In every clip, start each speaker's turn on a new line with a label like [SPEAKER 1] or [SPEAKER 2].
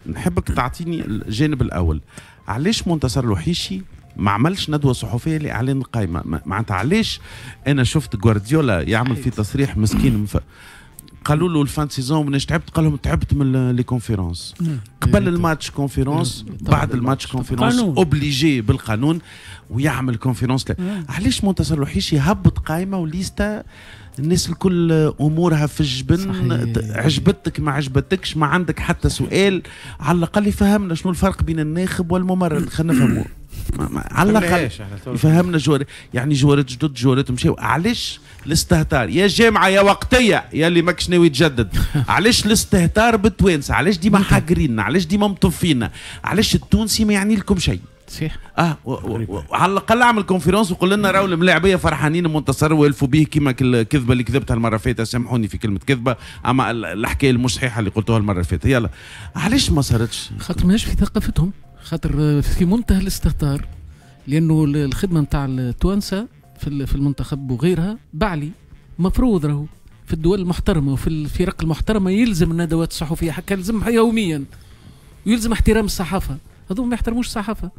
[SPEAKER 1] نحبك تعطيني الجانب الاول. علاش منتصر الوحيشي ما عملش ندوه صحفية لاعلان القائمة؟ معناتها علاش انا شفت جوارديولا يعمل في تصريح مسكين، قالوا له ال fin saison مناش تعبت؟ قال لهم تعبت من les conférences. قبل ال match conférence، بعد ال match conférence، obligé بالقانون ويعمل conférence. علاش منتصر الوحيشي يهبط قائمة وليستا الناس الكل امورها في الجبن؟ عجبتك ما عجبتكش، ما عندك حتى سؤال، على الاقل يفهمنا شنو الفرق بين الناخب والممرن، خلينا نفهموا على الاقل يفهمنا joueur، يعني جوارات جدد، جوارات مشاو. علاش الاستهتار يا جامعه يا وقتية يا اللي ماكش ناوي تجدد؟ علاش الاستهتار بالتوانسه؟ علاش ديما حاقريننا؟ علاش ديما مطفينا؟ علاش التونسي ما يعني لكم شيء؟
[SPEAKER 2] صحيح.
[SPEAKER 1] على الاقل اعمل conférence وقول لنا راهو الملاعبيه فرحانين المنتصر والفوا به كيما الكذبة اللي كذبتها المرة اللي فاتت. سامحوني في كلمة كذبه، اما الحكاية المش صحيحه اللي قلتوها المرة اللي فاتت. يلا علاش ما صارتش؟
[SPEAKER 2] خاطر ماهيش في ثقافتهم، خاطر في منتهى الاستهتار، لانه الخدمة نتاع التوانسة في المنتخب وغيرها بعلي مفروض راهو في الدول المحترمة وفي الفرق المحترمة يلزم الندوات الصحفية، حكا يلزم يوميا، ويلزم احترام الصحافة. هذو ما يحترموش الصحافة.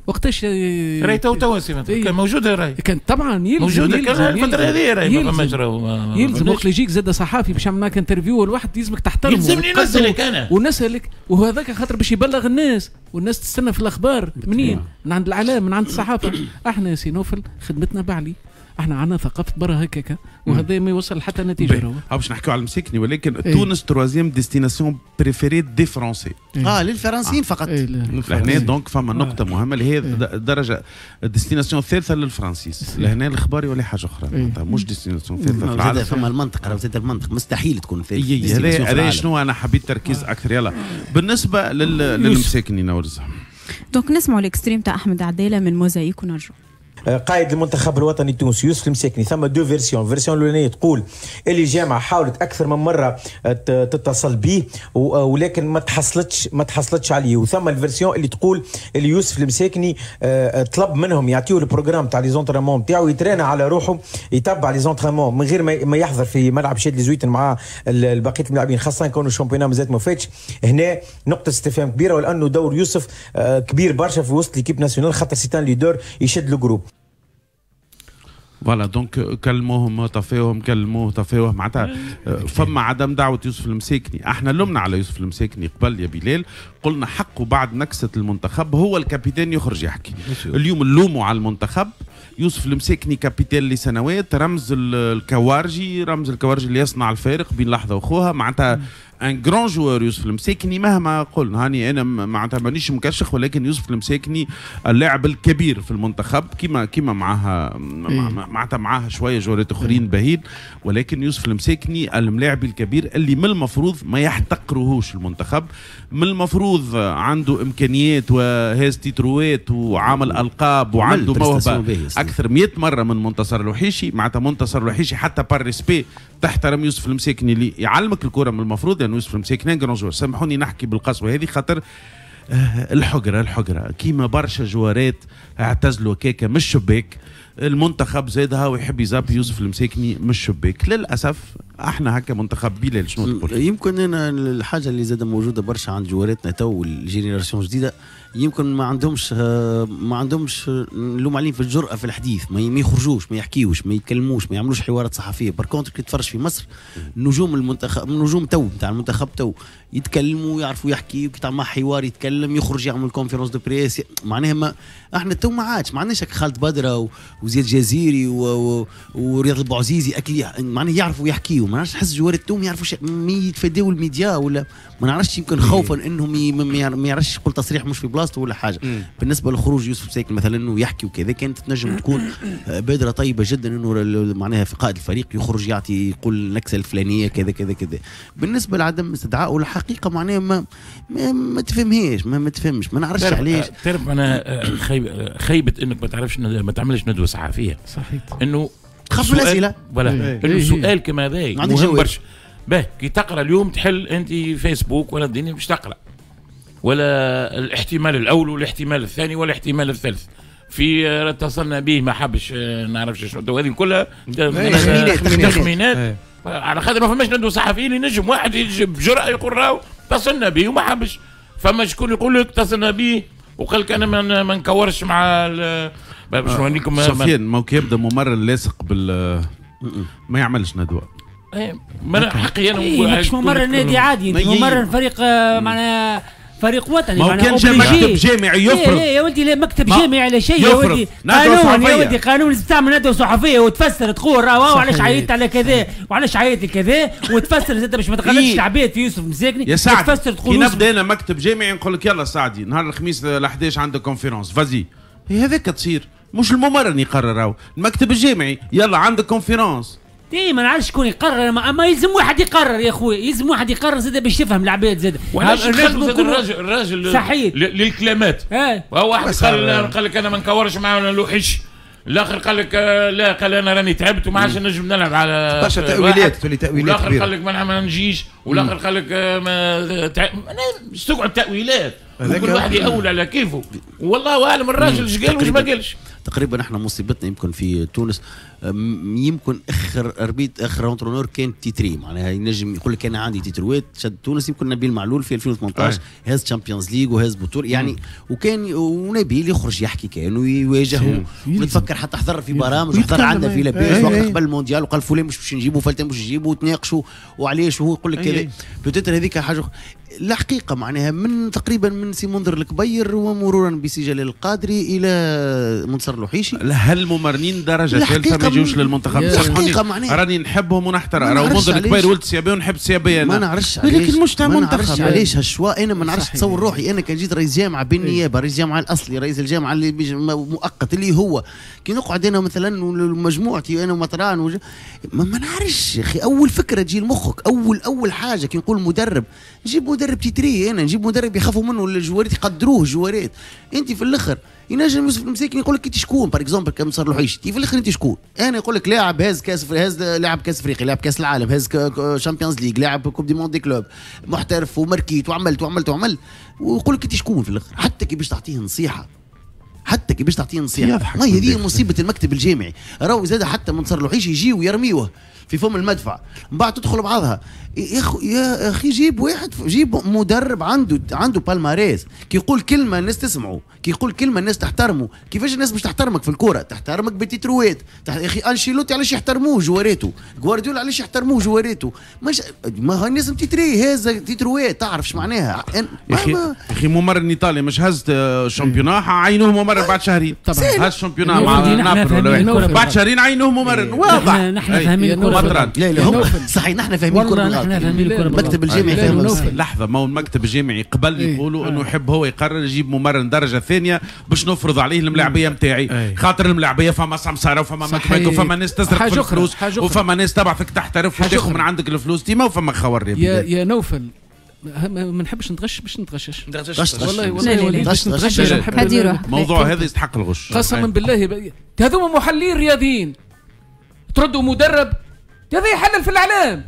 [SPEAKER 2] وقتاش
[SPEAKER 3] راهي تو تونسي كان موجودة، راهي
[SPEAKER 2] كان طبعا يلزم
[SPEAKER 3] موجودة كان الفترة هذه، راهي ما فماش راهو
[SPEAKER 2] يلزم وقت يجيك زاد صحافي باش يعمل معك interview، الواحد يلزمك تحترمه،
[SPEAKER 3] يلزمني نسالك انا
[SPEAKER 2] ونسالك، وهذاك خاطر باش يبلغ الناس، والناس تستنى في الاخبار منين؟ من عند الاعلام، من عند الصحافة. احنا يا سي نوفل خدمتنا بعلي، احنا عندنا ثقافة برا هكاكا، وهذا ما يوصل حتى نتيجة.
[SPEAKER 1] راهو باش نحكيو على المساكني، ولكن إيه؟ تونس troisième destination préférée des Français،
[SPEAKER 4] للفرنسيين فقط.
[SPEAKER 2] إيه.
[SPEAKER 1] لهنا donc فما نقطة مهمة اللي هي الدرجة ال destination الثالثة للفرنسيس. لهنا الاخبار يولي حاجة اخرى، إيه؟ مش destination الثالثة في العالم.
[SPEAKER 4] فما المنطق، راهو زاد المنطق مستحيل تكون ثالث.
[SPEAKER 1] هذا شنو انا حبيت تركيز اكثر. يلا بالنسبة للمساكني نورز،
[SPEAKER 5] donc نسمعوا ال extrait تاع احمد عدالة من موزايك ونرجعوا.
[SPEAKER 6] قائد المنتخب الوطني التونسي يوسف المساكني، ثم deux versions. version الاولانية تقول اللي الجامعة حاولت اكثر من مرة تتصل به ولكن ما تحصلتش عليه، وثم ال version اللي تقول اللي يوسف المساكني طلب منهم يعطيوه ال programme تاع les entraînements نتاعو، يترينا على روحه، يتبع les entraînements من غير ما يحضر في ملعب شادلي زويتن مع بقية الملاعبين، خاصة كونه ال championnat مازالت ما فاتش. هنا نقطة استفهام كبيره، ولانه دور يوسف كبير برشا في وسط l'équipe nationale، خاطر c'est un leader يشد ال groupe.
[SPEAKER 1] voilà donc كلموهم طفيوهم، كلموه طفيوه، معناتها فما عدم دعوه يوسف المساكني. احنا لمنا على يوسف المساكني قبل يا بلال، قلنا حقه بعد نكسه المنتخب هو ال capitaine يخرج يحكي. اليوم نلوموا على المنتخب. يوسف المساكني capitaine لسنوات، رمز الكوارجي، رمز الكوارجي اللي يصنع الفارق بين لحظة وخوها، معناتها un grand joueur يوسف المساكني. مهما قلنا هاني انا معناتها مانيش مكشخ، ولكن يوسف المساكني اللاعب الكبير في المنتخب، كيما معاها معناتها معاها شوية جوارات اخرين باهين، ولكن يوسف المساكني الملاعب الكبير اللي من المفروض ما يحتقروهوش المنتخب. من المفروض عنده امكانيات وهاز تيتروات وعامل القاب وعنده موهبة اكثر 100 مرة من منتصر الوحيشي. معناتها منتصر الوحيشي حتى par respect تحترم يوسف المساكني اللي يعلمك الكره. من المفروض لان يعني يوسف المساكني grand joueur. سامحوني نحكي بالقسوه هذه خاطر الحقره الحقره كيما برشا جوارات اعتزلوا كيكة مش شباك، المنتخب زادها ويحب يزاب يوسف المساكني مش شباك. للاسف احنا هكا منتخب. بلال شنو تقول؟
[SPEAKER 4] يمكن انا الحاجة اللي زاد موجودة برشا عند جواراتنا تو ال génération جديده، يمكن ما عندهمش نلوم عليهم في الجرأة في الحديث، ما يخرجوش، ما يحكيوش، ما يتكلموش، ما يعملوش حوارات صحفيه. par contre كي تفرج في مصر نجوم المنتخب، نجوم تو نتاع المنتخب تو يتكلموا، يعرفوا يحكي، كي تعمل حوار يتكلم، يخرج يعمل conférence de presse. معناها ما احنا تو ما عادش ما عندناش خالد بدره وزياد جزيري ورياض البوعزيزي اكلي معناها يعرفوا يحكيوا. ما نعرفش، نحس جوار التوم يعرفوا يتفاداو الميديا ولا ما نعرفش، يمكن خوفا انهم ما يعرفش يقول تصريح مش في بلاصته ولا حاجه. بالنسبة لخروج يوسف مساكني مثلا انه يحكي وكذا، كانت تنجم تكون بادره طيبة جدا انه معناها في قائد الفريق يخرج يعطي يقول النكسه الفلانية كذا كذا كذا. بالنسبة لعدم استدعائه الحقيقة معناها ما تفهمهاش، ما تفهمش، ما نعرفش علاش.
[SPEAKER 3] تعرف انا خيبه انك ما تعرفش ما تعملش ندوه صحفيه.
[SPEAKER 2] صحيح.
[SPEAKER 3] انه
[SPEAKER 4] تخاف من الاسئله.
[SPEAKER 3] voilà انه سؤال كما هذا مهم برشا. باهي كي تقرا اليوم تحل انت فيسبوك ولا الدنيا باش تقرا ولا الاحتمال الاول والاحتمال الثاني والاحتمال الثالث، في اتصلنا به ما حبش، نعرفش شنو، هذه كلها تخمينات، تخمينات على خاطر ما فماش ندوه صحفيين ينجم واحد يجي بجرأه يقول راهو اتصلنا به وما حبش. فما شكون يقول لك اتصلنا به وقال لك انا ما نكورش مع باش نوريكم.
[SPEAKER 1] سفيان ما يبدا ممرن لاصق بال ما يعملش ندوه.
[SPEAKER 3] ما حقي انا
[SPEAKER 7] مش ممرن نادي عادي، انت ممرن فريق معناها فريق وطني.
[SPEAKER 1] ما كان جا مكتب جامعي يفرض.
[SPEAKER 7] لا يا ولدي، لا مكتب جامعي على شيء يا ولدي. قانون يا ولدي، قانون لازم تعمل ندوه صحفية وتفسر تقول راه وعلاش عيطت على كذا وعلاش عيطت لكذا، وتفسر زاد باش ما تغلطش العباد في يوسف مساكني.
[SPEAKER 1] يا سعدي
[SPEAKER 7] تفسر تقول
[SPEAKER 1] كي نبدا انا مكتب جامعي نقول لك يلا سعدي نهار الخميس ل 11 عندك conférence vas-y، هذاك تصير مش الممرن يقرر، راهو المكتب الجامعي يلا عندك conférence.
[SPEAKER 7] اي ما نعرفش شكون يقرر، اما يلزم واحد يقرر يا خويا، يلزم واحد يقرر زاد باش يفهم العباد زاد.
[SPEAKER 3] وعلاش الراجل
[SPEAKER 7] صحيح
[SPEAKER 3] للكلامات. هو واحد قال لك انا ما نكورش مع لوحش، الاخر قال لك لا، قال انا راني تعبت وما عادش نجم نلعب على
[SPEAKER 8] برشا تاويلات، تولي تاويلات.
[SPEAKER 3] والاخر قال لك ما نجيش، والاخر قال لك ما تقعد تاويلات، وكل واحد يأول على كيفه. والله اعلم الراجل اش قال واش ما قالش.
[SPEAKER 4] تقريبا احنا مصيبتنا يمكن في تونس، يمكن اخر arbitre اخر entraîneur كان titré، معناها ينجم يقول لك انا عندي تيتروات شد تونس. يمكن نبيل معلول في 2018 هز Champions League وهز بطوله يعني، وكان ونبيل يخرج يحكي كانه يواجهه. ونتفكر حتى حضر في برامج وحضر عندنا في لاباس وقت قبل المونديال وقال فلان مش باش نجيبه فلان مش نجيبه، وتناقشوا وعلاش وهو يقول لك كذا. peut-être هذيك حاجة الحقيقة معناها من تقريبا من سي منذر الكبير ومرورا بسي جلال القادري الى منتصر الوحيشي.
[SPEAKER 1] هل الممرنين درجه ثالثة ما يجوش للمنتخب؟
[SPEAKER 4] الحقيقة معناها
[SPEAKER 1] راني نحبهم ونحترم، راهو منذر الكبير ولد سيابيه ونحب سيابيه،
[SPEAKER 4] ما نعرفش علاش،
[SPEAKER 1] ولكن مش تاع منتخب.
[SPEAKER 4] ما نعرفش علاش هال choix. انا ما نعرفش تصور روحي انا كان جيت رئيس جامعه بالنيابة، رئيس جامعه الاصلي، رئيس الجامعة اللي مؤقت اللي هو كي نقعد انا مثلا ومجموعتي انا ومطران ما نعرفش يا اخي. اول فكرة تجي لمخك، اول حاجة كي نقول مدرب، نجيب مدرب titré، انا نجيب مدرب يخافوا منه الجوارات، يقدروه الجوارات. انت في الاخر ينجم يوسف المساكني يقول لك انت شكون، par exemple كم صار الوحيش، انت في الاخر انت شكون؟ انا يقول لك لاعب هز كاس، هز لاعب كاس افريقيا، لاعب كاس العالم، هز Champions League، لاعب Coupe du monde des clubs، محترف ومركيت وعملت وعملت وعملت، ويقول لك انت شكون في الاخر. حتى كي باش تعطيه نصيحة، حتى كي باش تعطيه نصيحة، ما هي هذه مصيبة المكتب الجامعي. راهو زاد حتى منصر الوحيش يجي ويرميوه في فم المدفع، من بعد تدخل بعضها. يا اخي جيب واحد، جيب مدرب عنده palmarès، كي يقول كلمة الناس تسمعه، كي يقول كلمة الناس تحترمه. كيفاش الناس باش تحترمك في الكورة؟ تحترمك بتيتروات. يا اخي انشيلوتي علاش يحترموه جواريته؟ غوارديولا علاش يحترموه جواريته؟ مش ما هو الناس titré، هذا تيتروات، تعرف اش معناها؟
[SPEAKER 1] يا اخي ممرن ايطالي مش هز championnat، عينوه ممرن بعد شهرين. هز championnat مع نابولي بعد شهرين عينوه ممرن، واضح.
[SPEAKER 7] نحن فاهمين الكره.
[SPEAKER 4] لا لا صحيح، نحن فاهمين الكره.
[SPEAKER 7] نحن فاهمين الكره.
[SPEAKER 4] المكتب الجامعي فاهم.
[SPEAKER 1] لحظة، ما هو المكتب الجامعي قبل يقولوا انه يحب هو يقرر يجيب ممرن درجه ثانية باش نفرض عليه الملاعبيه نتاعي، خاطر الملاعبيه فما سمساره وفما مكمك وفما ناس تسرق في الفلوس وفما ناس تبعثك تحترف وتاخذ من عندك الفلوس ديما، وفما خور.
[SPEAKER 2] يا نوفل ما نحبش نتغش باش نتغشش. والله والله باش نتغشش.
[SPEAKER 1] الموضوع هذا يستحق الغش
[SPEAKER 2] قسما بالله. هذوما محللين رياضيين تردوا مدرب هذا يحلل في الاعلام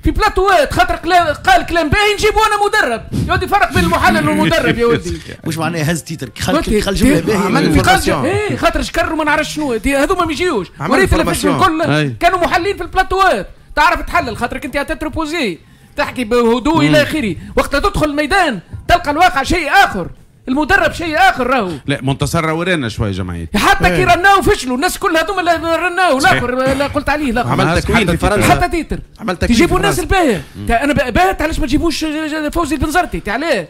[SPEAKER 2] في بلاتوات، خاطر قال كلام باهي نجيبو انا مدرب. يا ودي فرق بين المحلل والمدرب يا ودي.
[SPEAKER 4] واش معناها هز titre؟ خل جملة باهيه
[SPEAKER 2] عمل ايه خاطر شكر وما نعرفش شنو. هذوما ما يجيوش. وريت اللي الكل كانوا محللين في البلاتوات، تعرف تحلل خاطرك انت à tête reposée، تحكي بهدوء الى اخره. وقت تدخل الميدان تلقى الواقع شيء اخر، المدرب شيء اخر. راهو
[SPEAKER 1] لا منتصر ورانا شوية جمعية،
[SPEAKER 2] حتى كي رناو فشلوا الناس كل هذوما اللي رناو الاخر لا قلت عليه الاخر.
[SPEAKER 8] عملت تكوين في فرنسا،
[SPEAKER 2] حتى titre عملت تكوين. تجيبوا الناس الباهيه. انا باهت علاش ما تجيبوش فوزي البنزرتي؟ علاه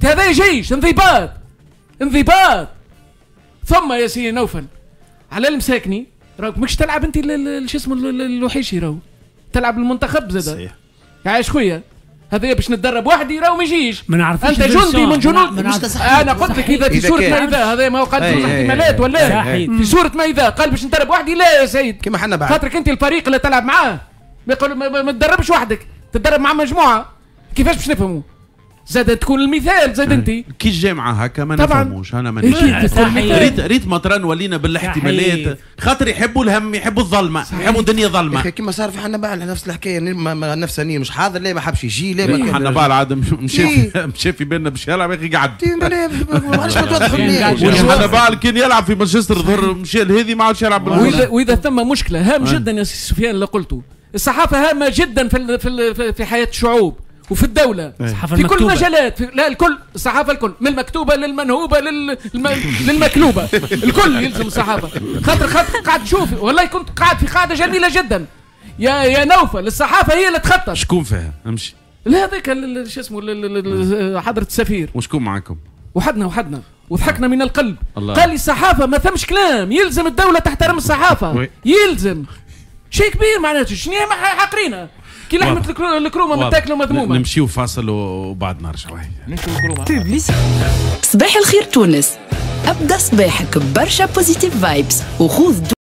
[SPEAKER 2] هذا جيش انضباط انضباط. ثم يا سيدي نوفل على المساكني راك ماكش تلعب انت شو اسمه الوحيشي، راهو تلعب المنتخب زاد. صحيح عايش خويا، هذا باش نتدرب وحدي راهو ما يجيش.
[SPEAKER 7] ما نعرفش
[SPEAKER 2] انت جندي من جنود. انا قلت لك اذا في سورة ما اذا هذا ما هو قال في احتمالات ولا في سورة ما اذا قال باش ندرب وحدي. لا يا سيد،
[SPEAKER 8] كيما حنا بعد
[SPEAKER 2] خاطرك انت الفريق اللي تلعب معاه ما يقول ما تدربش وحدك، تدرب مع مجموعة. كيفاش باش نفهموا؟ زاد تكون المثال زاد انت
[SPEAKER 1] كي الجامعة هكا ما نفهموش. انا مانيش ريت مطران ولينا بالاحتمالات، خاطر يحبوا الهم، يحبوا الظلمة، يحبوا الدنيا ظلمه.
[SPEAKER 8] كيما صار في حنبعل نفس الحكاية، نفسانيا مش حاضر، لا ما حبش يجي، لا ما
[SPEAKER 1] حنبعل عاد مشى في بالنا باش يلعب يا اخي قعد.
[SPEAKER 8] علاش ما توضحوليش؟
[SPEAKER 1] حنبعل كان يلعب في مانشستر ظهر مشى لهذه ما عادش يلعب.
[SPEAKER 2] واذا ثم مشكلة هام جدا يا سي سفيان اللي قلته، الصحافة هامة جدا في في حياة الشعوب، وفي الدولة في كل المجالات، لا الكل، الصحافة الكل، من المكتوبة للمنهوبه للمكلوبه، الكل يلزم الصحافة. خاطر قاعد تشوف، والله كنت قاعد في قاعدة جميلة جدا يا نوفل، الصحافة هي اللي تخطط.
[SPEAKER 1] شكون فيها؟ امشي.
[SPEAKER 2] لا هذاك شو اسمه حضره السفير.
[SPEAKER 1] وشكون معاكم؟
[SPEAKER 2] وحدنا وضحكنا من القلب. الله. قال لي الصحافة ما ثمش كلام، يلزم الدولة تحترم الصحافة. يلزم شيء كبير معناته، شنو حاقرينها كي لحمه الكرومه متاكله ومذمومه.
[SPEAKER 1] نمشيو فاصل وبعد نرجعوا.
[SPEAKER 9] صباح الخير تونس، ابدا صباحك برشا positive vibes وخذ